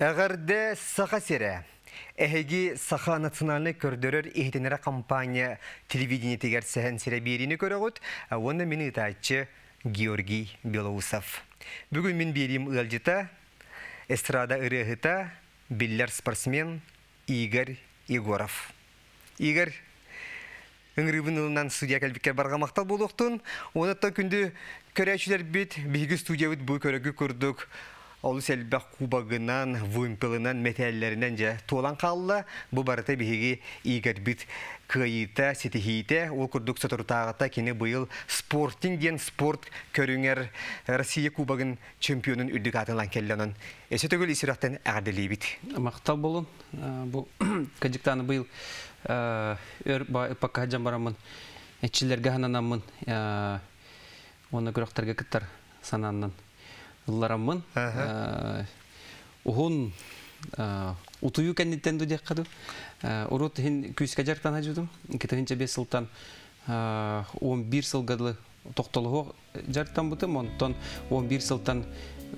Эҕэрдэ, Саха сирэ! Эһиги Саха национальнай көрдөрөр-иһитиннэрэр компания телевидениетигэр Сэһэн сирэ биэриини көрөҕүт уонна мин ыытааччы Георгий Белоусов. Бүгүн мин биэриим ыалдьыта, эстрада ырыаһыта, биллэр спортсмен Игорь Егоров. Игорь, ыҥырыыбын ылынан студия кэлбиккэр барҕа махтал буолуохтун. Уонаттан күндү көрөөччүлэрбит, биһиги студиябыт бу көрөгү курдук олус элбэх кубогынан, вымпелынан, мэтээллэринэн дьэ туолан хаалла. Бу барыта биһиги Игорьбит кыайыыта, ситиһиитэ. Ол курдук соторутааҕыта кини быйыл спортинг диэн спорт көрүҥэр Россия кубогын чемпионун үрдүк аатын ылан кэллэ. Онон өссө төгүл ис сүрэхтэн эҕэрдэлиибит. Махтал болун. Бу кадьыктааны быйыл өр ыппакка сылдьан бараммын эччилэргэ хананаммын уонна күрэхтэргэ кыттар санааннан ыллараммын уһун утуйуу кэнниттэн ду диэххэ ду урут иһин күүскэ дьарыктан сылдьыбытым 2005 сылтан 11 сылга дылы тохтолоһуох дьарыктаммытым онтон 11 сылтан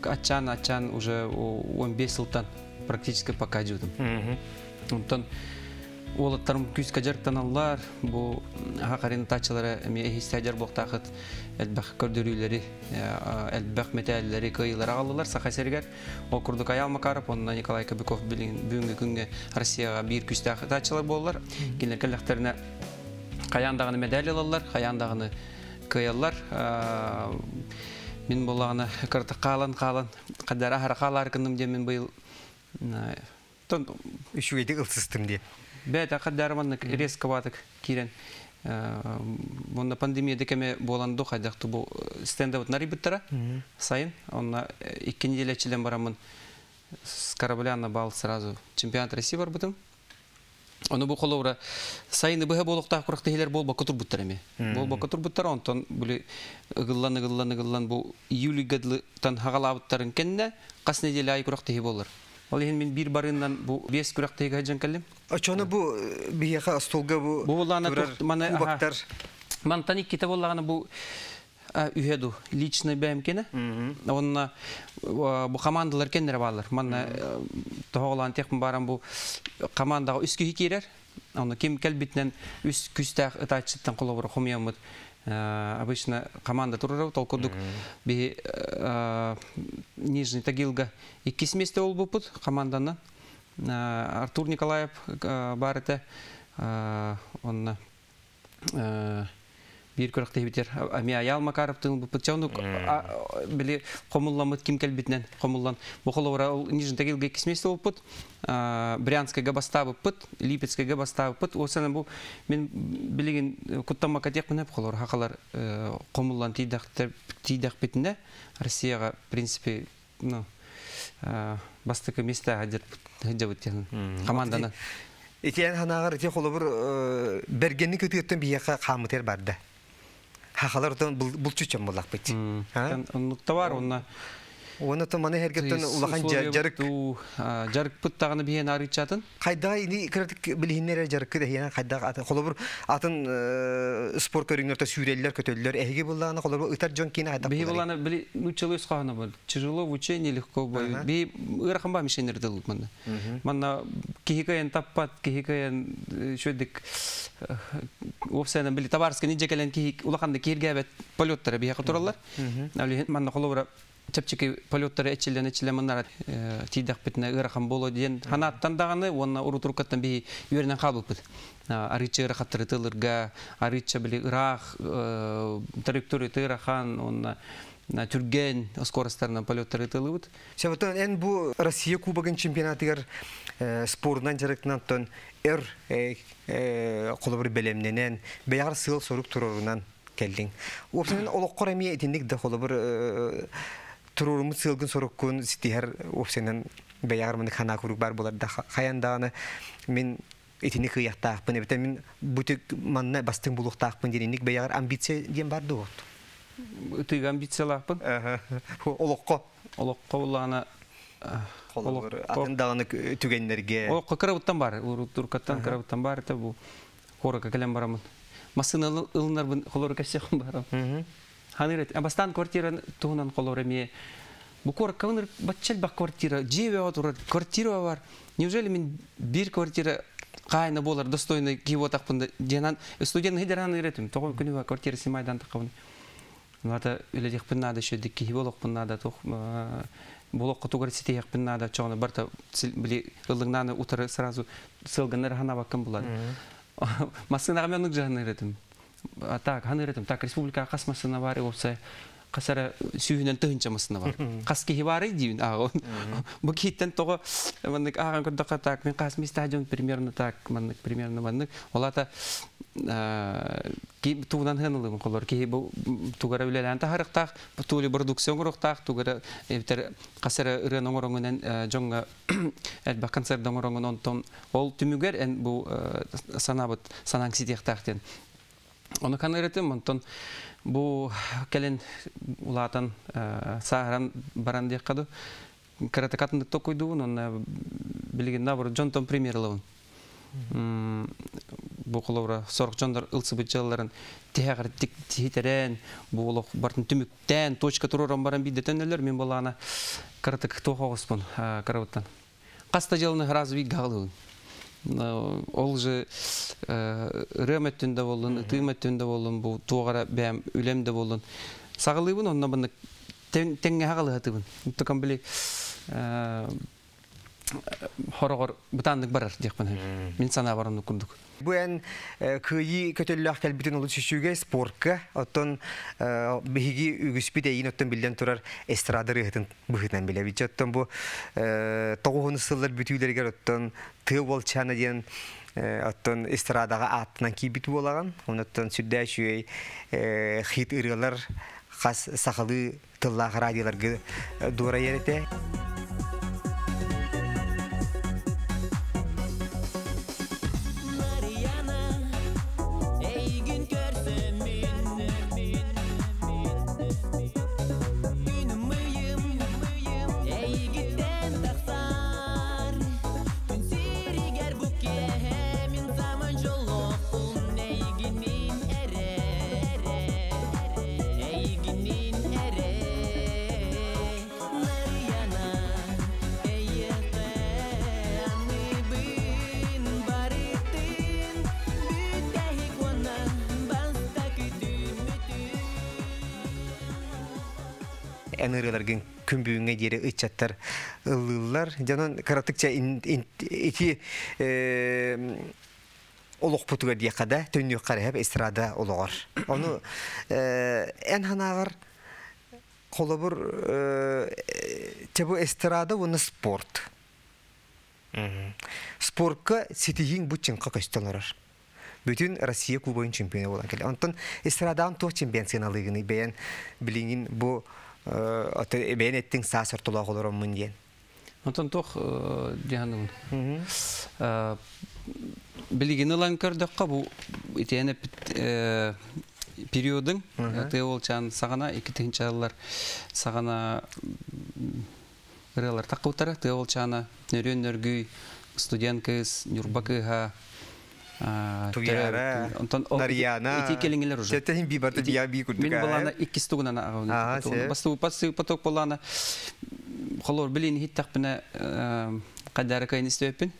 аччаан аччаан уже 15 сылтан практически пока дьыбытым онтон уолаттарым күүскэ дьарыктаналлар бу хахарин таччылара эмиэ иһистэ дьар буохтаахыт элбэх көрдөрүүлэри элбэх мэтээллэри кыайыылары аҕаллылар Саха сиригэр ол курдук Айаал Макаров уонна Николай Кобяков билигин бүгүҥҥү күҥҥэ Россияҕа биир күүстээх ытааччылар буоллар кинилэр кэллэхтэринэ хайаан даҕаны медаль ылаллар хайаан даҕаны кыайаллар. Мин буоллаҕына кырата хаалан хаалан хадара аһара хаалаары гынным диэн мин быйыл тон үчүгэйдик ылсыстым диэн. Бэйэтэ хадара маннык резковатык киирэн онно пандемия кэме буолан ду хайдах бу стендабыт нарыйбыттара сайын онно икки неделя чилен бараммын с корабля на бал сразу чемпионат России барбытым. Ону бу холобура сайыны быһа буолуохтаах күрэхтэһиилэр буолбакка турбуттар эмиэ. Буолбакка турбуттар, онтон били ыгыллан ыгыллан ыгыллан бу июльга дылытан хагалаабыттарын кэннэ хас неделя аайы күрэхтэһии буолар. Ол иһин мин биир барыыннан бу биэс күрэхтэһиигэ сылдьан кэллим. Оччону бу биһиэхэ остуолга бу Бу буоллаҕына турар маны кубоктар мантан иккитэ буоллаҕына бу үһэ ду личный бэйэм кэнэ. Онно бу командалар кэннэрэ бааллар. Манна тоһоҕолоон техпин баран бу командаҕа үс киһи киирэр. Онно ким кэлбитинэн үс күстээх ытааччыттан холобура хомуйаммыт обычно команда турар ол курдук биһи Нижний Тагилга иккис месте болбуппут команданан. Артур Николаев бар этэ. Онно биир күрэхтэһибитер ами Аял Макаровтын ылбыппыт чэ оннук били хомулламмыт ким кэлбитинэн хомуллан бу холобура ол Нижний Тагилга иккис месте буолбуппут Брянскайга бастаабыппыт Липецкайга бастаабыппыт уосана бу мин билигин куттаммакка диэхпинэ холобура хахалар хомуллан тиийдэхпитинэ Россияҕа в принципе ну бастакы месте сылдьабыт диэн команданы Итиэн санааҕар ити холобур бэргэнник ытыаттан биһиэхэ хааммытыгар барда. Хахалар отон булчуччан буллахпыт. Оннук бар онна Уонна то маны эргеттен улахан жарык жарыкпыт даҕаны биһиэн арыычатын хайда ини кыратык билиһиннэр жарыккы дэһиэн хайда атын холобур атын спорт көрүҥнэртэ сүүрэллэр көтөллөр эһиги буллааны холобур ытар дьон киин хайдах биһи буллааны били нуччалыы өс хоһооно бар тяжело в учении легко в бою би ыарахан ба мишенер дылыт манна манна киһи кыайан таппат киһи кыайан үчүгэйдик уопсайынан били табаарыска нидьэ кэлэн киһи улаханнык киһиргээбэт полеттара биһиэхэ тураллар манна холобура чэпчэки полеттары эчиллэн эчиллэн маннара тиийдэхпитинэ ыарахан буолуо диэн ханааттан даҕаны уонна урутуруккаттан биһи үөрэнэн хаалбыппыт арыычча ыарахаттары тылырга арыычча били ыраах траектория ыарахан уонна түргэн скоростарынан полеттары тылыбыт. Сәбәтен эн бу Россия Кубогын чемпионатыгар спорунан жарыктынан тон өр холобур бэлэмнэнэн бэйэҕэр сыал-сорук туруорунан кэллиҥ. Уопсайынан олоххор эмиэ итинник да холобур туруоруммут сыалгын соруккун ситиһэр уопсайынан бэйэҕэр маннык санаа куруук баар буолар да хайан даҕаны мин итини кыайыахтаахпын эбэтэр мин бу манна бастыҥ булуохтаахпын диэн инник бэйэҕэр амбиция диэн бар дуо? Ытыыга амбициялаахпын. Олоххо. Олоххо буллаҕына холобур атын даҕаны түгэннэргэ. Олоххо кырабыттан бар, уруккаттан кырабыттан бар это бу куоракка кэлэн бараммын. Массыына ылынарбын холору кэссиэхпин барам. Ханыыр бастаан квартира туһунан холор эмиэ Бу куоракка бачча элбэх квартира, дьиэ бөҕө турар, квартира бар. Неужели мин биир квартира хаайына буолар достойный киһи буотахпын диэн студент хидеран ыретим. Тоҕо күнү квартира симайдан тахабын. Ната үлэлиэхпин наада, шөдик киһи болохпун наада, туох болохко тугар ситиэхпин наада, чоҕуна барта били ыллыҥнааны утары сразу сылгыннар ханабаккын булар. Массынаҕа мен оннук жаһан ыретим. Так, хан ыретим. Так, республика хас массына бар, опса хасара сүүһүнэн тыһынча массына бар. Хас киһи бары диюн ааҕын. Бу киһиттен тоҕо маннык ааҕан көрдөххө так, мен хас стадион примерно так, маннык примерно маннык. Олата ки тугунан хынылыбын колор киһи бу тугара үлэлээн таһарыктаах, тули продукция оҥоруохтаах, тугара эбитер хасара ырыан оҥороҥунан дьоҥҥо элбэх концерт оҥороҥун онтон ол түмүгэр эн бу санаабыт санааҥ ситиэхтээх диэн. Ону канырытым, онтон бу кэлин улаатан сааһыран баран диэххэ ду кыратыкатындык токуйдугун, онно билигин набор дьонтон примерлабын. Бу холобура сорох дьоннор ылсыбыт дьыалларын тиһэҕэр тиһитерэн, бу олох бартын түмүктээн, точка туророн баран биирдэ мен болаана кыратык туох оҕуспун карабыттан. Хаста дьыаланы сразу биир гаҕалыыбын. Ол же ырыам өттүн да боллун, ытыым өттүн да боллун, бу туоҕара бэйэм үлэм да боллун. Саҕалыыбын, онно баны тэҥҥэ хаҕалыһатыбын. Тукам били хороҕор бытааннык барар диэхпин. Мин санаа баранны курдук. Бу эн кыйы көтөллөөх кэлбитин олус үчүгэй спортка, оттон биһиги үгүспүт эйин оттон биллэн турар эстрада ырыһытын быһытынан билэбит. Оттон бу тоҕуһуну сыллар бүтүүлэригэр оттон тыа уолчаана диэн оттон эстрадаҕа ааттынан киирбит буолаҕын. Онуттан сүрдээх үчүгэй хит ырыалар хас сахалыы тыллаах радиоларга дуорайар этэ. Эйигин көрсөммүн Күнүм ыйым эйигиттэн тахсар Күн сиригэр бу киэһэ мин саамай дьоллоохпун Эйигинин эрэ Эйигинин эрэ Нарыйана эйиэхэ аныыбын барытын Бүтэһик уонна бастакы түмүтүн Эн ырыаларгын күн бүгүҥҥэ диэри ыччаттар ыллыыллар. Дьонон кыратыкча ити олохпутугар диэххэ да, төннүөххэ эрэ эстрада олоҕор. Ону эн санааҕар холобур бу эстрада уонна спорт. Спортка ситиһииҥ бу чыҥха көстөн олорор. Бүтүн Россия кубогын чемпиона буолан кэлэ. Онтон эстрадаан туох чемпион сыаналыыгыный бэйэн билиҥин бу бэйэн эттиҥ саас ортолоох олороммун диэн. Онтон туох диһаныбын. Билигин ылан көрдөххө бу итиэнэ периодың тыа уолчаан саҕана икки тыһыынчалар саҕана ырыалар таххыбыттара тыа уолчаана нөрүөн нөргүй студент кыыс Ньурба кыыһа Туяра, онтон Нарьяна. ити келиңилер уже. Тетехин би барты бия би курдук. Мин балана иккис тугунан Се. Басту пасы поток балана холор билин хиттахпына кадара кайын истеппин.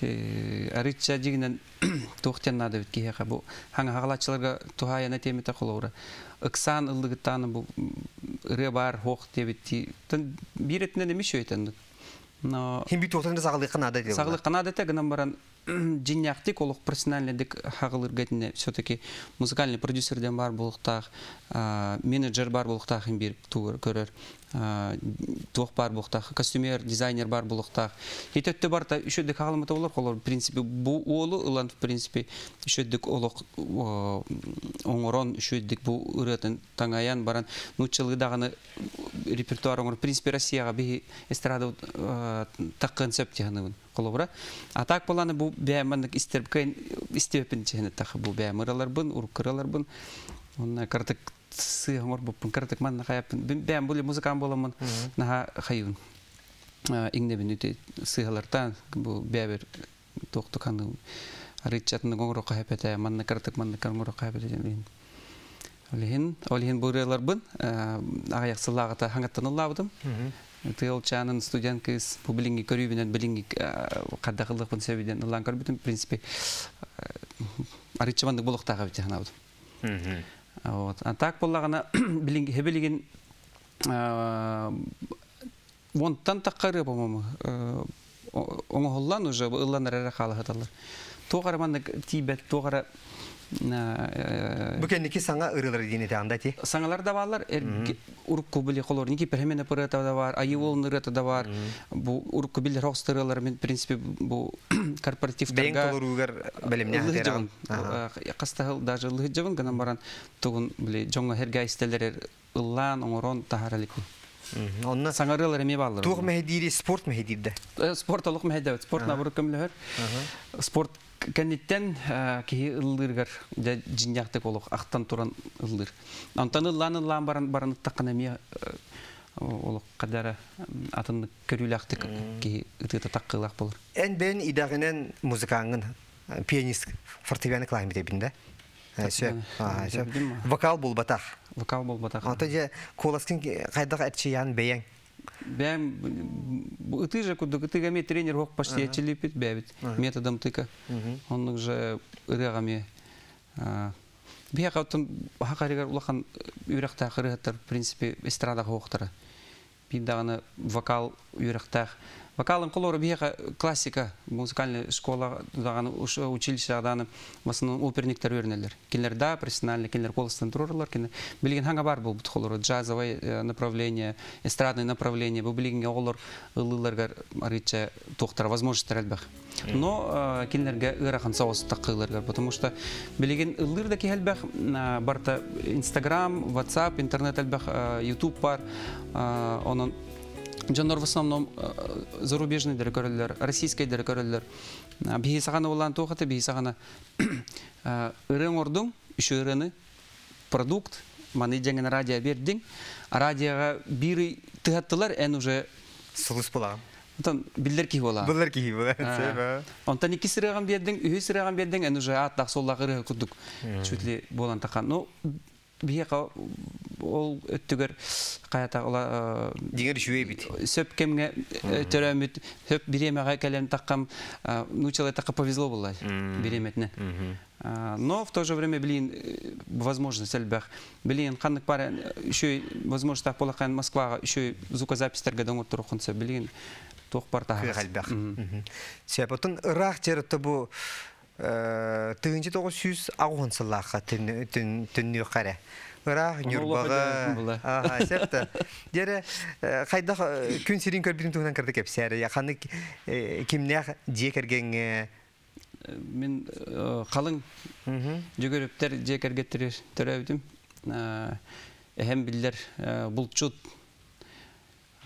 Арычча дигинен туохтен надо бит киһиэхэ бу хаҥа хаҕалааччыларга туһаайана тиэмэтэ холоура. Ыксаан ыллыгыттааны бу ырыа бар хоох диэбитти. Тон биир этинен эмис өйтен. Но Хин би туохтан да саҕалыахха наада диэн. Саҕалык канада гынан баран дьиннээхтик олох профессиональный хаҕылырга все-таки музыкальный продюсер ден бар буолуохтаах, менеджер бар буолуохтаах бир тугур көрөр, туох бар буолуохтаах, костюмер, дизайнер бар буолуохтаах. Хитөттө барта үшөдүк хаҕаламата болор, холор в принципе бу уолу ылан в принципе үшөдүк олох оҥорон үшөдүк бу ырыатын таҥаян баран нууччалыы даҕаны репертуар оҥор в принципе Россияҕа биһи эстрада таккын сөп тиһаныбын холобура. А так боланы бу бэйэмманнык истербкэн истебепин чэһинэ тахы бу бэйэм ыраларбын, уруккыраларбын. Онна картык сыһ оҥор буппун, картык манна хаяппын. Бэйэм були музыкам боламын наха хайын. Иңнебин үтэ сыһалартан бу бэбер тоқтуканы арыччатын оҥоро хапета, манна картык манна оҥоро хапета ден. Ол иһин бу ырыаларбын аҕыйах сыллааҕыта хаҥаттан ыллаабытым. Тыал чаанын студент кыыс бу билиҥҥи көрүүбүнэн билиҥҥи хайдах ыллыахпын сөбүнэн ыллаан көрбүтүм. В принципе, арыычча маннык буолуохтаах эбит санаабытым. Вот. А так буоллаҕына билиҥҥи билигин уонтан тахха ырыа, по-моему, оҥоһуллан уже ылланар эрэ хаалаһыталлар. Туох эрэ маннык тиийбэт, туох эрэ Бу кэнники саҥа ырыалар диэн этэ ти. Саҥалар да бааллар, урукку били холор Никита Хемене ырыата да бар, Айыы ырыата да бар. Бу урукку биллэр хоҕустарылар мен, в принципе, бу Бэйэҥ корпоративтарга толоруугар бэлэмнээх ыллыһы дьабын. Хастаһыл даже ыллыһы дьабын гынан баран тугун били дьоҥҥо херга истелер ыллаан оҥорон таһаараликпин. Онно Саҥа ырыалар эмиэ бааллар. туох мэһэйдиири, спорт мэһэйдиирдэ? Спорт олох мэһэйдээбэт. Спорт наоборот көмөлөһөр. Спорт кэнниттэн киһи ыллыыргар дьэ дьинньаахтык олох ахтан туран ыллыыр. Онтон ыллаан ыллаан баран баран ыттаххына эмиэ олох кадара атын көрүүлээхтик киһи ытыыта таққылаах болор. Эн бэйэҥ идэҕинэн музыкаҥҥын, пианист, фортепиано клавиш бин да? Сөп. Сөп. Вокал булбатах. Вокал болбатах. Ото же куоласкын хайдах эрчийэн бэйэҥ? Бэйэм ытыы же курдук ытыга ме тренер хок почти ячилипит бэбит методом тыка. Оннук же ырыага ме биһиэхэ хакаригар улахан үөрэхтээх ырыһыттар, в принципе, эстрада хоохтара. Биир даҕаны вокал үөрэхтээх. Вокалын колору биһиэхэ классика, музыкальная школа даҕаны училище даҕаны в основном оперниктер үөрэнэллэр. Кинилэр да профессиональный, кинилэр голостан турарлар, кинилэр билигин хаҥа бар буолбут холору джазовое направление, эстрадное направление, бу билигин оҕолор ыллыыларгар арыыча туохтара возможностьтар элбэх. Но кинилэргэ ыарахан соҕус таққыыларгар, потому что билигин ыллыыр да киһи элбэх, барта Инстаграм, WhatsApp, интернет элбэх, YouTube бар, онон дьоннор в основном зарубежный көрөллөр, российский көрөллөр. Биһи саҕана улаан туохата, биһи саҕана ырыаҥ ордуҥ, үчү ырыаны, продукт, маны дьэҥин радио бердиҥ, радиоға биир тыһаттылар, эн уже Сулус буламын. Онтон биллэр киһи буолаа. Былыр киһи була. Онтон икки сырыган биэрдиҥ, үһүс сырыган биэрдиҥ, эн уже ааттаах суоллаах ырыа курдук чуть ли буолан тахан. Ну, биһиэхэ ол өттүгэр хайата ола Дигер үчүгэй бит. Сөп кемге төрөмүт, сөп биремеге келем таккам, ну, человек повезло было биреметне. Но в то же время, блин, возможность элбэх. Блин, ханнык пара еще возможность так полахан Москвага еще звукозаписьтерге доңор блин, туох бар Кыах элбэх. Сөп, отон ыраах жеретте бу 1980 сыллаахха түннүү қаре. Ыраах Ньурбаҕа. Аха, сөптө. Дере хайдах күн сирин көрбүтүн туһунан кырды кэпсээри. Ханнык кимнээх дьиэ кэргэҥҥэ? Мин халыҥ жүгөрүптэр дьиэ кэргэттери төрөөбүтүм. Эһэм биллэр булчут,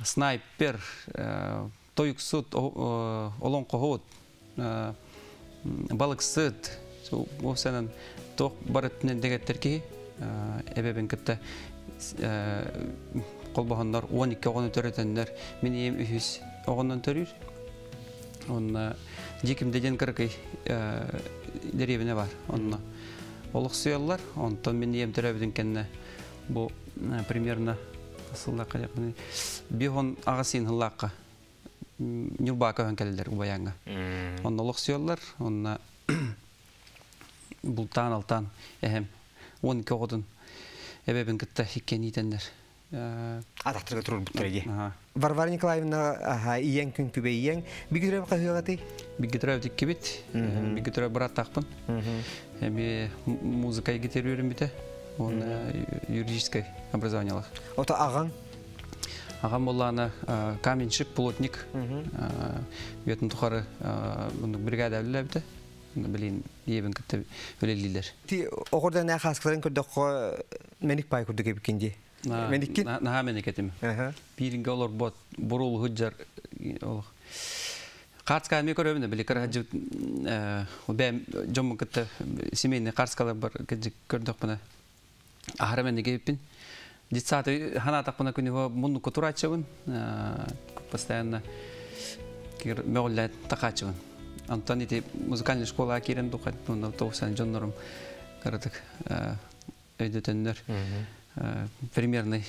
снайпер, тойуксут, олоҥхоһут, балыксыт, ол туох барытынан дэгеттер киһи эбэбин кытта холбоһоннор 12 оҕону төрөтөннөр, мин ийэм үһүс оҕоннон төрүүр. Онна Дьиикимдэ диэн кыракый дэриэбинэ бар. Онно олохсуйаллар. Онтон мин ийэм төрөөбүтүн кэннэ бу примерно сыллаахха 58 сыллаахха Ньурбаа көһөн кэлэллэр Убайааҥҥа. Онно олохсуйаллар. Онно бултаан алтаан эһэм 12 оҕотун эбэбин кытта иккиэн иитэннэр. Атахтарга турурбуттар ди. Варвара Николаевна, аха, ийэҥ күн күбэй ийэҥ бигүрөм хаһыагаты? Бигэ иккибит. Бигэ бырааттаахпын. Эми музыка гитарүөрүм бите. Он юридическое образованиелах. Ото аҕаҥ? Аҕам буоллаана каменщик, плотник. Үйэтин тухары бригада үлэлээбитэ. Блин, ийэбин кытта үлэлиилэр. Ти оҕордан хаскаларын көрдөххө мэник пай курдук эбиккин ди. Мэниккин? Наһаа мэник этим. Бииринге олорбот бурул худжар олох. Картска ми көрөбүн били караджы бэм жоммун кытта семейный картскалар бар көрдөхпүнэ. Ахара мен кеппин. Детсады хана тақпына күнү мунну кутурачыбын. Постоянно мөҕүллэ тақаачыбын. Антон ити музыкальный школа кирен духат, ну, тоусан жоннорум каратык. Өйдөтөннөр примерный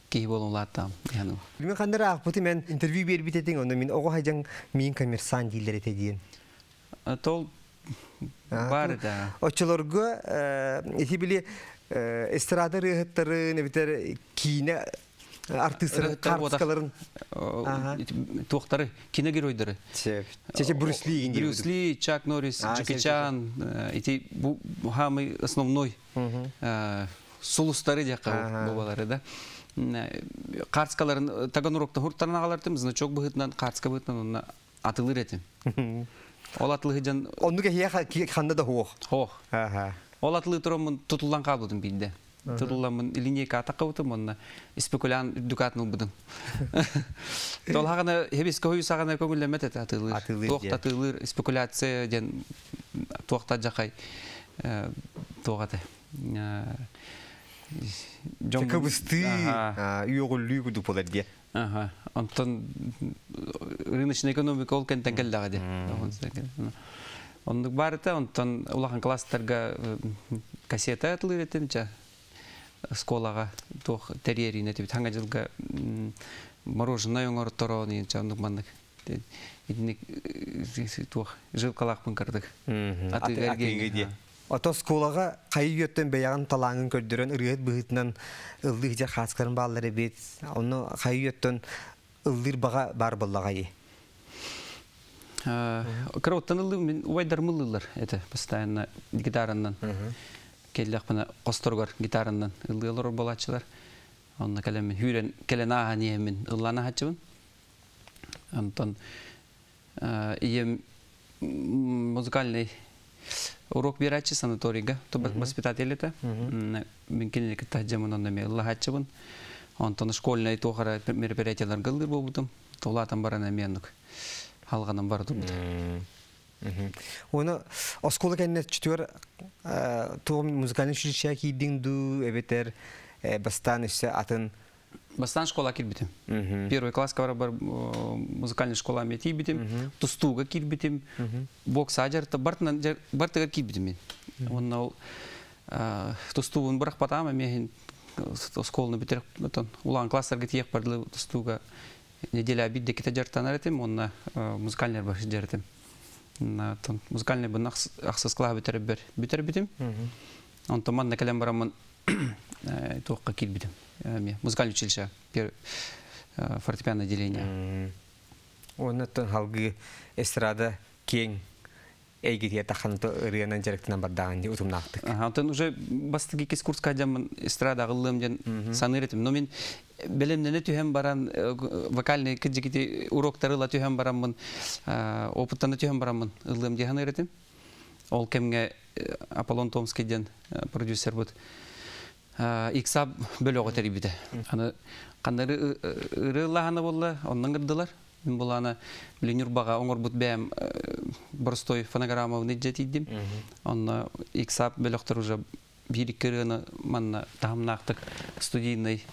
киһи буолан улааттаҕым дии. Мин ханна эрэ аахпытым эн интервью биэрбит этиҥ, онно мин оҕо сылдьан миин коммерсант дииллэр этэ диэн. Тол бар да. Оччолорго ити били эстрада ырыаһыттарын эбэтэр киинэ артыыстарын карточкаларын туохтары кино геройдары Чече Брюс Ли Брюс Ли, Чак Норрис, Джеки Чан ити бу самый основной сулустары диэххэ бобалары да карточкаларын Таганрогта хуртаран аҕалартым значок быһыытынан карточка быһыытынан онно атылыр этим ол атылы дьон оннук эһиэхэ ханна да суох суох ол атылыы тураммын тутуллан хаалбытым биирдэ тутулламмын линейка атаххабытым уонна спекулянт үрдүк аатын ылбытым Тол хаҕана хебиске хойу саҕана көҥүллэммэт этэ атыылыыр туох да атыылыыр спекуляция диэн туох да дьахай туох этэ дьон кыбыстыы үөҕүллүү курдук буолар диye онтон рыночная экономика ол кэнтэн кэллэҕэ дии оннук баар этэ онтон улахан класстарга кассета атылыыр этим ча школаҕа туох тэрийэриин этибит хаҥа дьылга мороженое оҥорторон ча оннук маннык итинник туох жилкалаахпын кырдык атыыга диye Ото оскуолаҕа хайы үйэттэн бэйэҕин талааҥын көрдөрөн ырыаһыт быһыытынан ыллыы сылдьар хааскарын бааллар эбит. Онно хайы үйэттэн ыллыыр баҕа баар буоллаҕай? Кыра оттон ыллыы мин убайдарым ыллыыллар этэ постоянно гитараннан келлэхпинэ хосторугар гитараннан ыллыы олорор буолааччылар. Онно кэлэммин хүүрэн кэлэн ааһан иһэммин ыллаан аһааччыбын. Онтон ийэм музыкальный урок биэрээччи санаторийга воспитатель этэ. Мин кинини кытта дьамын онно эмиэ ыллаһааччыбын. Онтон школьнай туох эрэ мероприятиеларга ыллыыр буолбутум. Улаатан баран эмиэ оннук халҕанан бара турбута. Уону оскуола кэннэ чүтүөр туох музыкальный училище киирдиҥ дуу эбэтэр бастаан өссө атын Бастаан школа киирбитим. Первый класска барабар музыкальный школа эмиэ тиийбитим. Тустууга киирбитим. Бокса дьарыта бартыгар киирбитим мин. Уонна ол тустуубун бырахпатаам эмиэ оскуоланы бүтэрэх улахан класстарга тиийэх бардылы тустууга неделя биирдэ ките дьарыктанар этим уонна музыкальный бар дьарытым. Музыкальный бын ахсыс класс бүтэрбэр бүтэрбитим. Онтон манна кэлэн бараммын туохха киирбитим. Музыкальное училище фортепиано отделение. Оннуттан халгыы эстрада киэҥ эйгитигэр таххан ырыанан дьарыктанан бардаҕын дии утумнаахтык. Онтон уже бастакы иккис курска дьаммын эстрада аҕыллыам диэн саныыр этим. Но мин бэлэмнэнэ түһэн баран вокальный кыдьыкити уроктары ыла түһэн бараммын опыттана түһэн бараммын ыллыам дии саныыр этим. Ол кэмҥэ Аполлон Томский диэн продюсербыт иксап бөлөҕү тэрийбитэ. Аны ханнары ырыалаһана буолла, оннан гырдылар. Мин булаана били Ньурбаҕа оҥорбут бэйэм боростой фонограммабын илдьэ тиийдим. Онно иксап бөлөхтөр уже биир икки ырыаны манна таһымнаахтык студийнай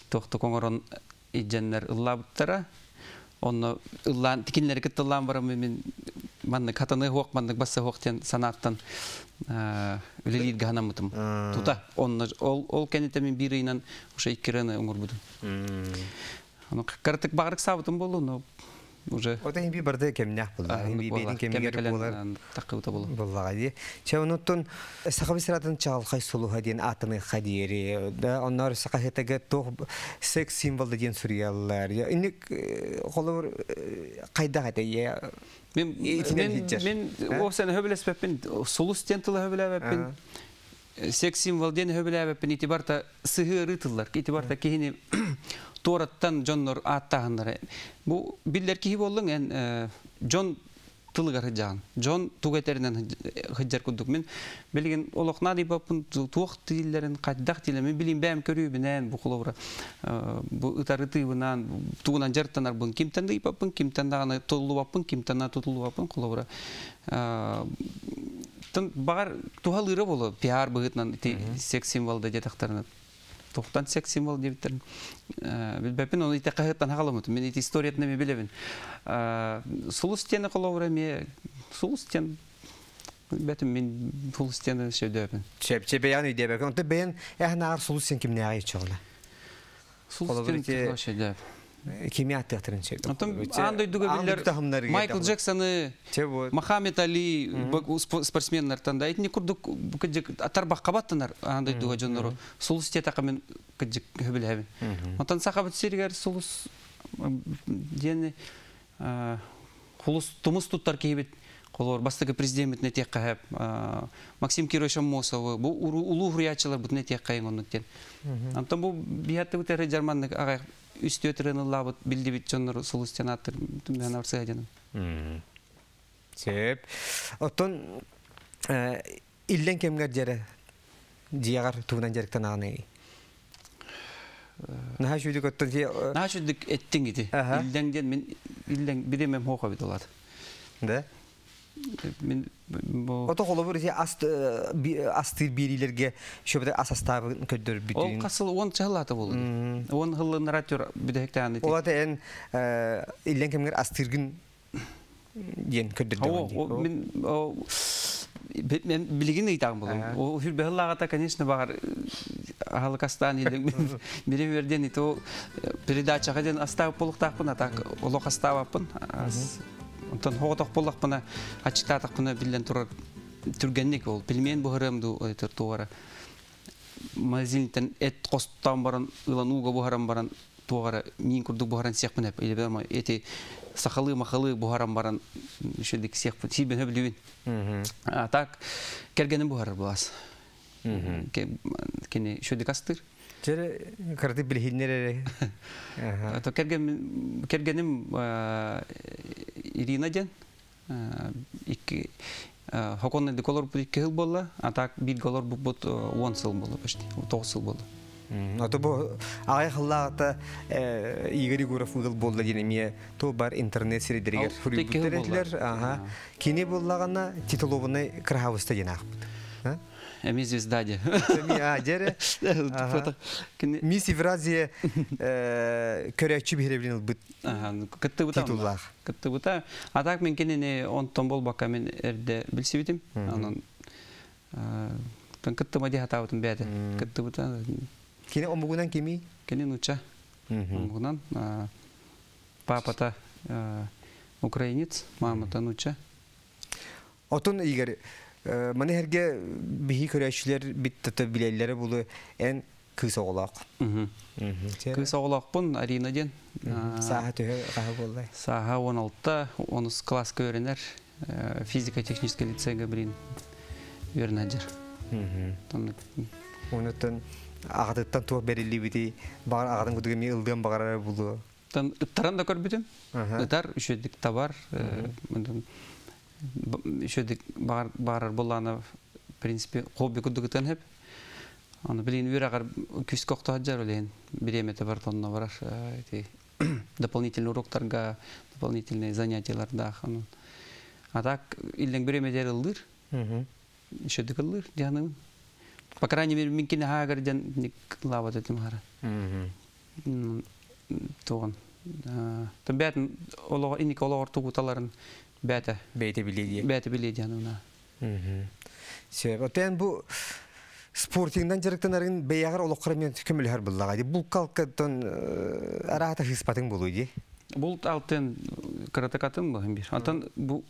туохтук оҥорон илдьэннэр ыллаабыттара. Онно ыллаан тикиннэри кытта ыллаан баран мин маннык хатаныа суох, маннык басса суох диэн санааттан үлэлииргэ санаммытым. Тута онно ол ол кэнниттэн мин биир ыйынан уже икки ырыаны оҥорбутум. Ону кыратык баҕарык саабытым буолуо, но уже Ота хин би барда кэмнээх буолла. Хин би бэйдин кэмигэр буолар. Таккыбыта буолуо. Буоллаҕа дии. Чэ онуттан Саха сиратын чаҕылхай сулуһа диэн ааттаныахха диэри да онноор саха хетеге туох секс символда диэн суруйаллар. Инник холобур хайдах этэй Мен мен ол сен хөбүлэспэппин сулус диэн тылы хөбүлээбэппин секс символ диэн хөбүлээбэппин ити барта сыһыары тыллар ити барта киһини туораттан дьоннор ааттааһыннара бу биллэр киһи буоллуҥ эн дьон тылыгар сылдьаҕын дьон тугу этэринэн сылдьар курдук мин билигин олох наадыйбаппын туох дииллэрин хайдах дииллэрин мин билим бэйэм көрүүбүнэн бу холобура бу ытарытыыбынан тугунан дьарыктанарбын кимтэн да ыйбаппын кимтэн даҕаны туллубаппын кимтэн да тутуллубаппын холобура баҕар туһалыыра буолуо пиар быһыытынан ити секс символ да диэтэхтэринэ тухтан секс символ диэбиттэрин билбэппин оны ити хаһыаттан хаҕаламмытым мин ити историятын эмиэ билэбин сулус диэни холобура эмиэ сулус диэн Бэтим мин сулус диэн сөйдөбүн. Чеп бэйэн өйдөбөккүн. Онтон бэйэн эһэн аар сулус сен кимнээҕи иччоҕуна? Сулус диэн сөйдөб. Кими аттыахтарын сөп. Онтон аан дойдуга биллэр Майкл Джексоны, Мохаммед Али спортсменнартан да итини курдук кыдьык тарбахха баттанар аан дойдуга дьоннору сулус диэтэххэ мин кыдьык сөбүлэһэбин. Онтон сахабыт сиригэр сулус диэн хулус тумус туттар киһибит холор бастакы президеммитин этиэххэ Максим Кирович Аммосовы бу улуу хуруйааччыларбытын этиэххэ оннук диэн. Онтон бу биһаттыбыт эрэ жарманнык аҕай үстүө тырыныллаабыт билдибит дьоннору сулус диэн ааттыр түмээн арсыа диэн. Сөп. Оттон иллен кэмгэр дьэрэ дьиэҕэр тугунан дьарыктанаҕыный? Наһаа шүйдүк оттон Наһаа шүйдүк эттиң ити. Иллең диэн мин иллең биремем хоха бит олар. Да? Мин бу Ото холобур ити астыыр биэриилэргэ шөбөтө ас астаабын көрдөрбүтүн. Ол хасыл он чахылаата болду. Он хыллыннара түр бүдэхтээн ити. Олата эн иллен кэмгэр астыыргын диэн көрдөрдөҕүн. Мин мен билигин ыйтаҕым болум. О хүрбэһыллааҕата, конечно, багар аһалыкастаан илин бири верден ито передачаға ден астаап болуктаахпын, а так олох астаабаппын. Онтон хоҕотох боллахпына, ачыктаатахпына биллен турар түргенник ол. Пельмен буһарым ду тугара. Магазинтен эт костан баран, ылан ууга буһаран баран, тугара мин курдук буһаран сиэхпин эп. Или эти сахалы махалы буһаран баран шөдик сиэхпин сибен хөблүбүн. А так кергеним буһарар булас. Кини шөдик астыр. Жере карты билихиннер эре. То кергеним Ирина ден икки хоконный деколор бут икки хыл болла, а так бир голор бут 10 сыл болла почти, 9 сыл болла. Ото бу агай хыллаата Игорь Егоров ыгыл болла диэн эмиэ то бар интернет сирдеригер хуруйбуттар. Ага. Кини боллагана титулованный крахавыста диэн аахпыт. Эми звезда де. Эми а жере. Мисс Евразия көрөчү биһиребилин ылбыт. Кыттыбыта. Титуллаах. Кыттыбыта. А так мен кинини онтон болбакка мен эрде билсибитим. Анан кыттыма дии хатаабытым бэйэтэ. Кыттыбыта. Кини омугунан кими? Кини нуча. Омугунан папата украинец, мамата нуча. Отон Игорь, маны herге биһи көрөчүлөр бит билеллери булу эн кыыс оҕолоох. Кыыс оҕолоохпун Арина диэн. Сааһа төһө хаһы буоллай? Сааһа 16, 10 класска үөрэнэр. Физико-технический лицейга билин үөрэнэдер. Онуттан аҕатыттан туох бериллибити бағар аҕатын кутуга ми ылдыан бағарар булу. Тан ыттаран да көрбүтүм. Ытар үчөдүк табар. Үчөдүк барар булланы в принципе хобби кудугутан хеп. Аны билин үр күс кокто хаджар олен биремете бар тонна барар эти дополнительный уроктарга, дополнительные занятияларда. А так илден биремедер ылдыр. Үчөдүк ылдыр дианым. По крайней мере, минкини хагар ден лават этим хара. Туган. Тон бәтин олого иник олого тугуталарын бәтә. Бәйте биледи. Бәтә биледи анына. Сөп. Отен бу спортингдан жарыктанарын бәягар олоққара мен көмөлөр буллага. Бул калкаттан арата хыспатын болу ди. Бул алтын каратакатын бу бир. Антан бу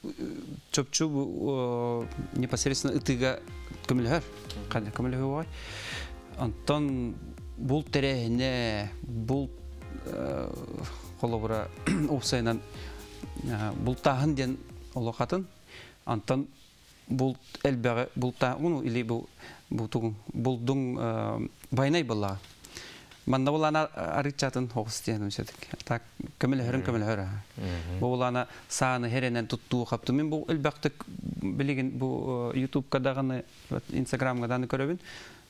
чөпчү бу непосредственно ытыга көмөлөр. Кандай көмөлөр бай. Антон бул терехне бул холобура опсайнан бул тахын ден олохатын. Антон бул элбәгә бул та уну или бу бу тугун булдуң байнай булла. Манна булана арычатын хогус диэн үсәдик. Так көмөлһөрүн көмөлһөр. Бу булана сааны херенен туттуу капты. Мен бу элбәктик билеген бу YouTube даганы, Instagram дагы көрөбүн.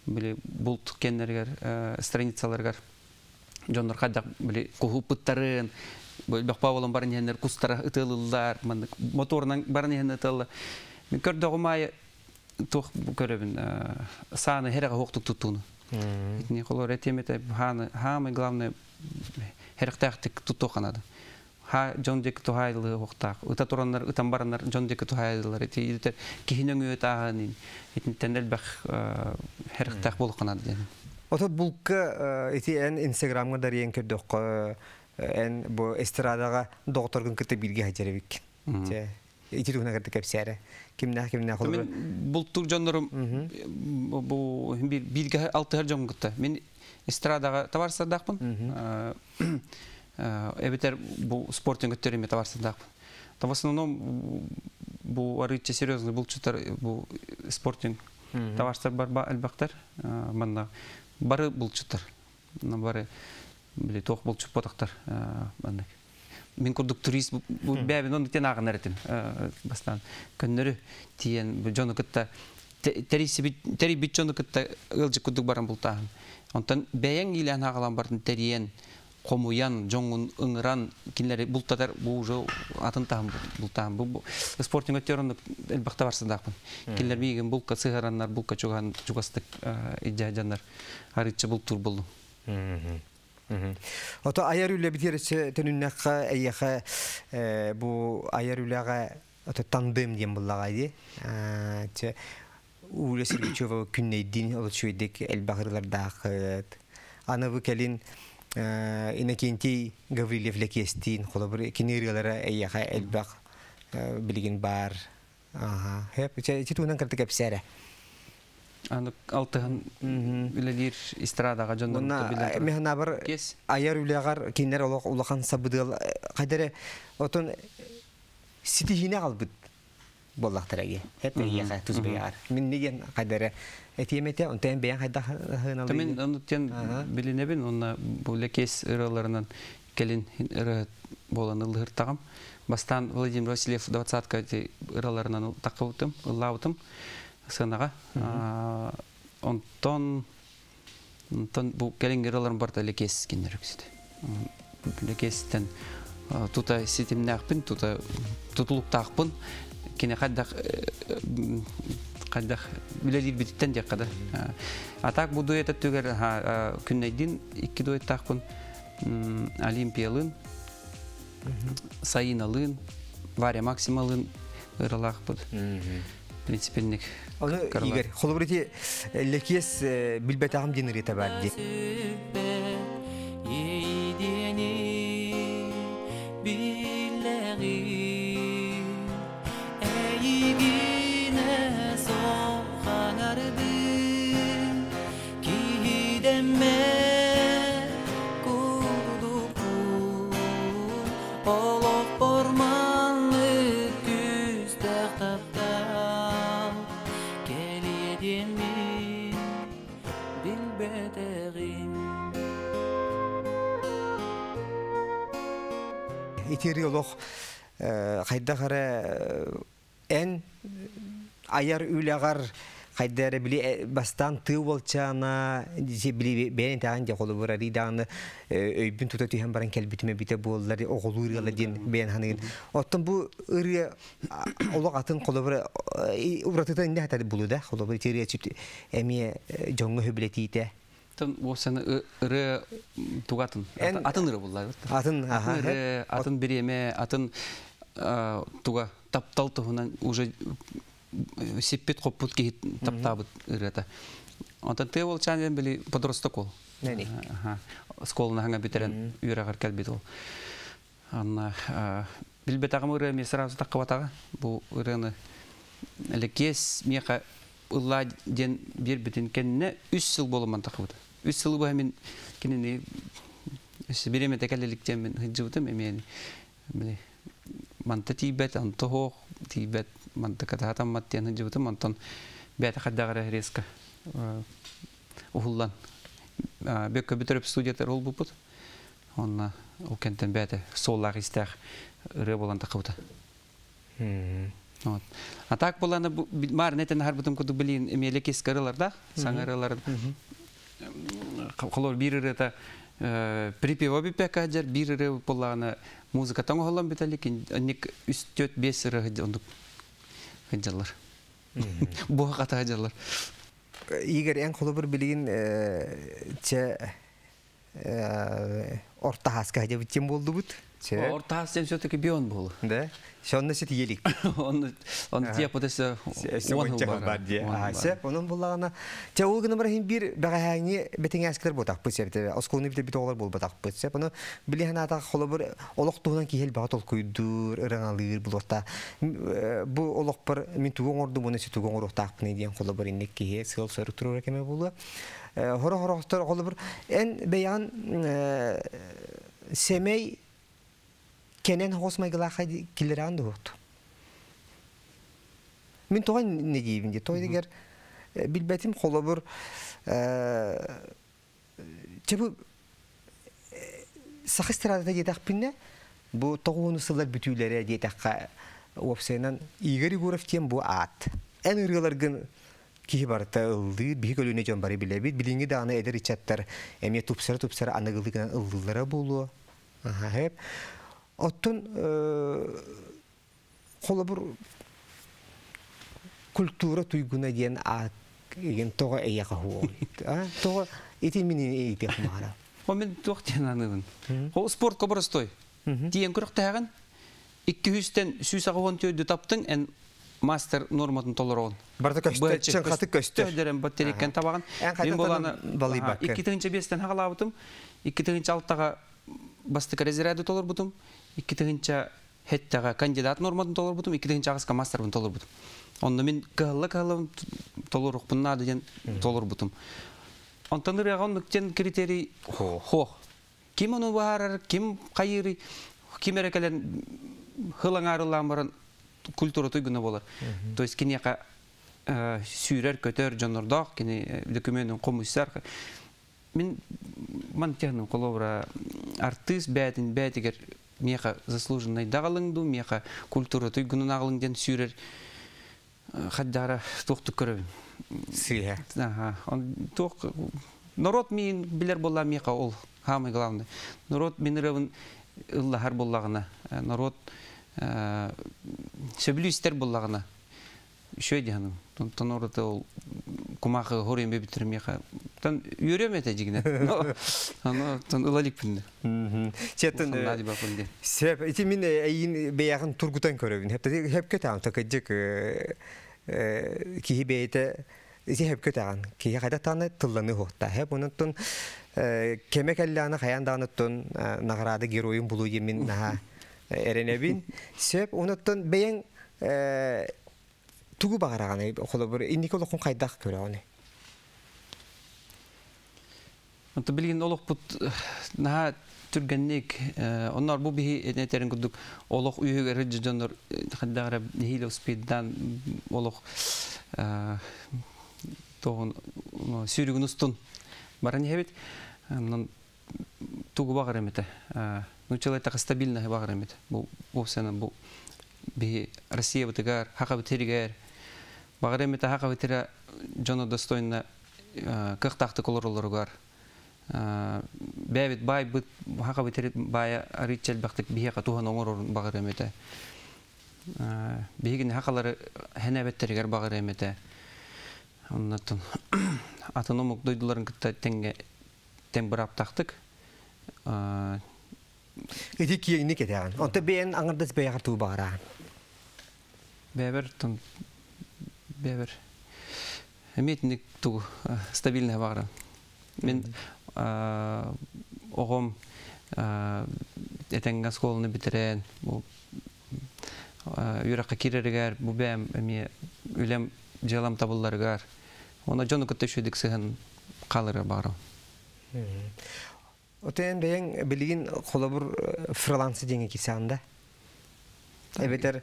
Били булт кеннергер, страницаларгар дьоннор кадак били кухуппуттарын, бу паволон барын хеннер кустара ытылылар, моторнан барын хеннер ытылы. Мен көрдөгүм тух көрөбүн сааны хереге хоктук туттууну. Итини холор этемете ханы хамы главное херектахтык туттуу канады. Ха дьон диэки туһаайыллыахтаах. Ыта тураннар, ытан бараннар дьон диэки туһаайыллар. Ити киһини өҥүө тааһын итинтэн элбэх хэрихтээх буолуохха диэн. Ото булка ити эн Инстаграмга дарыйан көрдөххө, эн бу эстрадаға доҕотторгун кытта бииргэ сылдьар эбиккин. Чэ, ити туһунан кытта кэпсээрэ. Кимнээх кимнээх олору? Мен бултуур дьоннорум бу бииргэ алтыһар дьон кытта. Мен эстрадаға табаарыстардаахпын. Эбэтэр бу спортинг өттөрүмэ табаарыстардаахпын. В основном бу арыычча серьезный булчуттар бу спортинг табаарыстар бар элбэхтэр. Манна бары булчуттар. Бары били туох булчут ботахтар маннык. Мин курдук турист бэбин оннук тен ааҕынар этим бастаан. Көннөрү тиийэн дьону кытта тэрийбит дьону кытта ыалдьыт курдук баран бултааһын. Онтон бэйэҥ иилээн аҕалан бардын тэрийэн, хомуйан, дьоҥҥун ыҥыран кинилэри бултатар бу уже атын таһым бултааһын. Бу спортинг өттүгэр оннук элбэхтэ барсыдаахпын. Кинилэр миигин булка сыһараннар, булка чугаһан чугастык илдьэ сылдьаннар арыычча бултуур буллум. Ото айар үлэ битир төнүннэххэ эйиэхэ бу айар үлэҕэ ото тандем диэн буллаҕа дии. Чэ Уля Сергучева күннэйдиин олочуйдик элбэх ырылардаахыт. Аны бу кэлин Иннокентий Гаврильев Лэкиэстиин холобур кини ырыалара эйиэхэ элбэх билигин баар. Аха. Хэп, ити туһунан кырты кэпсээрэ. Аны алтыһын үлэлиир эстрадаҕа дьоннорун билэн Механабар айар үлэҕэр кинилэр олох улахан сабыдыал хайдары отон ситиһиини аҕалбыт буоллахтара ге. Хеп эйиэхэ тус бэйэҕэр. Мин диэн хайдары этиэм этэ, онтон бэйэҥ хайдах хыналыйын. Мен ону тен билинэбин, онна бу Лекес ырыаларынан кэлин ырыа буолан ыллыһыртаҕым. Бастаан Владимир Васильев двадцатка ырыаларынан таххыбытым, ыллаабытым сыанаҕа. Онтон онтон бу кэлиҥҥи ырыаларым барыта Лекес кинилэр үксүтэ. Лекестен тута ситимнээхпин, тута тутулуктаахпын. Кини хайдах хайдах үлэлиирбититтэн диэххэ да. А так бу дуэт өттүгэр күннэйдин икки дуэттаахпын Олимпиялыын, Саиналыын, Варя Максималыын ыралаахпыт. Принципенник. Оны Игорь, холобур ити Лекиэс билбэтэҕим диэн ырыата баар дии. Эйигинэ соқаңардым киһидэммэ курдукпун олохпор маннык күүстээх таптал кэлиэ диэммин билбэтэҕим. Итири олох хайдах эрэ эн айар үлэҕэр хайда эрэ били бастаан тыы уолчаана били бэйэн итэҕэн дьэ холобур арый даҕаны өйбүн тута түһэн баран кэлбитим эбитэ буоллар оҕолуур ыала диэн бэйэн ханыгын. Оттон бу ырыа олох атын холобур уратыта инде хатар булу да холобур ити ырыа эмиэ дьоҥҥо хөбүлэтиитэ. Тон уопсаны ырыа тугатын атын ырыа буллар. Атын атын ырыа, атын бириэмэ, атын туга таптал туһунан уже сиппит хоппут киһи таптаабыт ырыата. Онтон тыа уолчаан диэн били подросток ол. Оскуоланы хаҥа бүтэрэн үөрэҕэр кэлбит ол. Анна билбэтэҕим ырыа эмиэ сразу таххыбатаҕа. Бу ырыаны Лекиэс миэхэ ыллаа диэн биэрбитин кэннэ үс сыл буолумман таххыбыта. Үс сылы быһа мин кинини бириэмэтэ кэлэ илик диэммин сылдьыбытым эмиэ били манта тиийбэт, онто суох, тиийбэт, манта катаһатаммат диэн сылдьыбытым. Онтон бэйэтэ хайдах эрэ резко уһуллан Бөккө бүтэреп студиятар олбуппут. Онно ол кэнтэн бэйэтэ суоллаах истээх ырыа буолан таххыбыта. Вот. А так буланы маар нетен харбытым курдук билин эмиэле кис ырылардаах, саҥа ырыларын холор биир ырыата припева бүппэккэ сылдьар, биир ырыа буоллаҕына музыкатан оһоллон бүтэлик, инник үс төрт биэс ырыа оннук сылдьаллар. Буһа хата сылдьаллар. Игорь, эн холобур билигин чэ Орто хаска дебиттен болдубут. Орто хас ден все-таки бион бол. Да. Сонно сит елик. Он тия потесе он бар ди. А сеп онун буллагана. Те ол гына бар бир багаһаңы бетиңәскер ботак бу сеп. Осколны бит бит оглар бол ботак бу сеп. Оны биле хана холобур олох туһунан кихел бага толкуйдур, ыраңалыр булота. Бу олох бар мин тугон орду буны си тугон орохтаакпыны диэн холобур инник кихе сыл сөрүк турур кеме булу. Хоро хорохтор холобур эн бэйан семей кенен хосмайгылаха килеран дуһут. Мин тоған не дейбин де, той дегер билбетим холобур чебу саха эстрадата диэтахпинне бу тоҕуону сыллар бүтүүлэрэ диэтэххэ уопсайынан Игорь Егоров тиэн бу аат. Эн ырыаларгын киһи барыта ыллыыр, биһи көлүнэ дьон бары билэбит, билиҥҥи даҕаны эдэр ыччаттар эмиэ тупсара-тупсара аныгылыгынан ыллыыллара буолуо. Аха, хэп. Оттон холобур культура туйгуна диэн аат еген тоҕо эйэҕэ хуоҕуй. Тоҕо ити мин иитиэх маара. О мен туох диэн аныыбын. Ол спорт коборостой. Тиен күрөхтээҕин 200-тен 184 таптың эн мастер норматын толороон. Барда көстө, чын хаты көстөр. Дерен баттериккен табаган. Мен боланы 2005-тен хагалабытым, 2006-га бастык разряды толорбутум, 2007-га кандидат норматын толорбутум, 2008-га мастербын толорбутум. Онно мен кыһылла кыһыллабын толорукпун наада диэн толорбутум. Онтон ырыаға оннук критерий хох. Ким ону баарар, ким хайыры, ким эрекелен хылаңарылаан баран культура туйгуна болар. То есть кинияка сүүрэр көтөр дьоннордоох, кини документын комуйсар. Мен ман техним колобра артист бәтин бәтигер меха заслуженный дагалыңду, меха культура туйгунун агалың ден сүүрэр хаддара тохту көрөбүн. Сыйа. Ага, он тох народ мин билер болла меха ол самый главный. Народ мин рыбын ыллахар боллагына, народ сөбүлүү истер боллагына. Шөй дияным. Тон ол кумахы хорен бебитир меха. Тон үйрөм эте жигине. Ано тон ылалик пинде. Четтен сеп ити мин эйин бэйагын тургутан көрөбүн. Хеп хеп көтән такыжык киһи бэйте ити хеп көтәган. Киһи кайда таны тылланы хохта. Хеп онуттун кеме кэллааны хаян даныттун награды геройун булу емин наха эренебин. Сеп онуттун бэйэн тугу багараганы холобур инники олохун хайдах көрөҕүнүй? Онто билигин олохпут наһаа түргэнник, оннор бу биһи этерин курдук олох үйүгэр дьоннор хаддагара нэһиилэ успейдан олох тоҕун сүүрүгүн устун баран иһэбит. Онон тугу баҕар эмитэ. Ну человек стабильно баҕар эмит. Бу бу сена бу биһи Россия бытыгар, хака битиригер. Баҕар эмитэ хака битирэ дьоно достойно кыхтаахтык олоролоругар. Бэбит бай быт хака битирит бая арыйчел бактык биһиэхэ туһан оҥорор баҕар эмитэ. Биһигини хакалары хэнэбэттеригэр баҕар эмитэ. Оннотон атын омук дойдуларын кытта тэҥҥэ тэҥ быраптахтык. Ити киэҥник этэҕин. Онто бэйэн аҥардас бэйэҕэр туу баҕараан. Бэбэр тон бэбэр эмиэтинник тугу стабильный баҕарам. Мен оҕом этэҥҥэ оскуоланы бүтэрэн бу үөрэххэ киирэригэр бу бэйэм эмиэ үлэм дьыалам табылларыгар уонна дьону кытта үчүгэйдик сыһан хааларыгар баҕарабын. Отен бэйэҥ билигин холобур фрилансы диэҥҥэ киирсэҕин да? Эбэтэр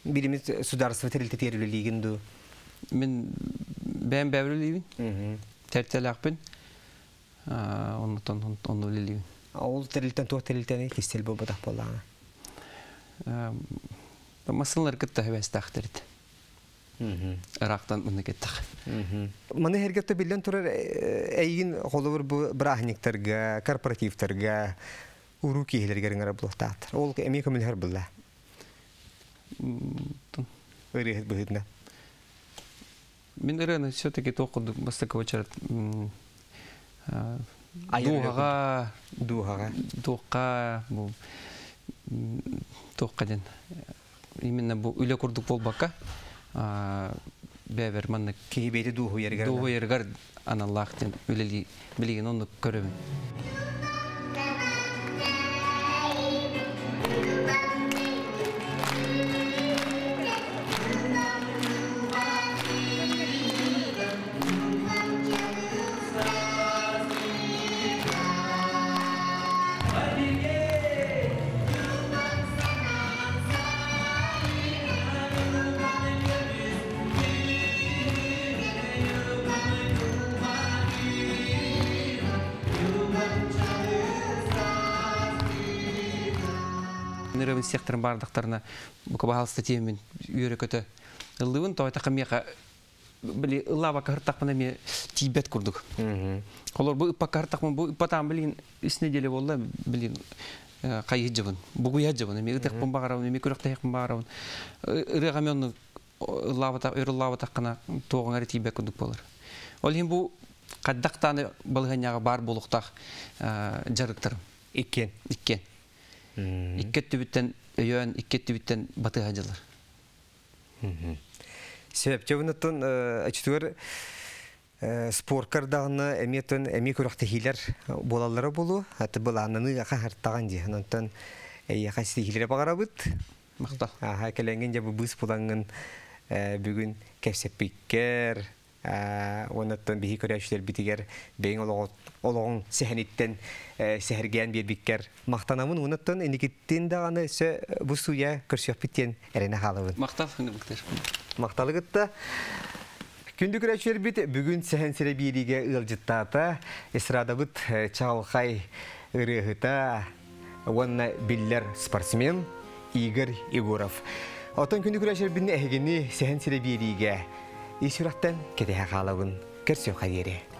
билимит сударство тэрилтэтигэр үлэлиигин дуу? Мин бэйэм бэйэбэр үлэлиибин. Тэрилтэлээхпин. Оннуттан онно үлэлиибин. Ол тэрилтэн туох тэрилтэни кистэл буолбатах буоллаҕына? Массыналар кытта хэбэстээхтэрит. Ыраахтан мына кеттах. Маны хергетте биллен турар эйин холобур бу бырааһынньыктарга, корпоративтарга, уруу киһилэригэр ыҥыра булуохтаахтар. Ол эмиэ көмөлөһөр булла. Ырыаһыт быһыытынан. Мин ырыаны все-таки туох курдук бастакы очерет Дууһаҕа дууһаҕа туохха бу туохха диэн именно бу үлэ курдук буолбакка бэбэр маннык киһи бэйэтэ дууһуйарыгар дууһуйарыгар аналлаах диэн үлэлии билигин оннук көрөбүн. Нырыбын сехтерин бардактарына бука баһалыста тиэмин үөрэ көтө ыллыбын тоойта миэхэ били ыллаабакка хыртахпына эмиэ тиийбэт курдук. Холор бу ыппакка хыртахпын бу ыппатаан билин үс неделя буолла билин хайыһыдьыбын бугуйаджыбын эми ытыахпын баҕарабын эми күрэхтэһиэхпин баҕарабын ырыаҕа эми онну ыллаабата өр ыллаабатаххына туоҕуҥ эрэ тиийбэт курдук буолар. Ол иһин бу хайдах даҕаны балаһыанньаҕа баар буолуохтаах дьарыктарым. Иккиэн. Иккиэн. Икки өттүбүттэн өйөөн, икки өттүбүттэн батыһа дьылар. Сөп. Чөбүнүттэн өчтүгэр спорткар даҕаны эмиэ эмиэ күрэхтэһиилэр буолаллара буолуо. Аты былааннаныы аха хартаҕан дии. Онтон эйиэхэ ситиһиилэри баҕарабыт. Махтал. Аха кэлэҥҥин дьэ бу быыс булаҥҥын бүгүн кэпсэппиккэр уоннаттан биһи көрөөччүлэрбитигэр бэйэҥ олоҕуҥ сэһэниттэн сэһэргээн биэрбиккэр махтанабын уоннаттан инникиттин даҕаны өссө бу сууйа көрсүөхпүт диэн эрэнэ хаалабын. Махтал, Виктор. Махталы кытта. Күндү көрөөччүлэрбит бүгүн сэһэн сирэ биэриигэ ыалдьыттаата эстрадабыт чаҕылхай ырыаһыта уонна биллэр спортсмен Игорь Егоров. Оттон күндү көрөөччүлэрбин эһигини сэһэн сирэ биэриигэ ис сүрэхтэн кэтэһэ хаалабын. Көрсүөххэ диэри.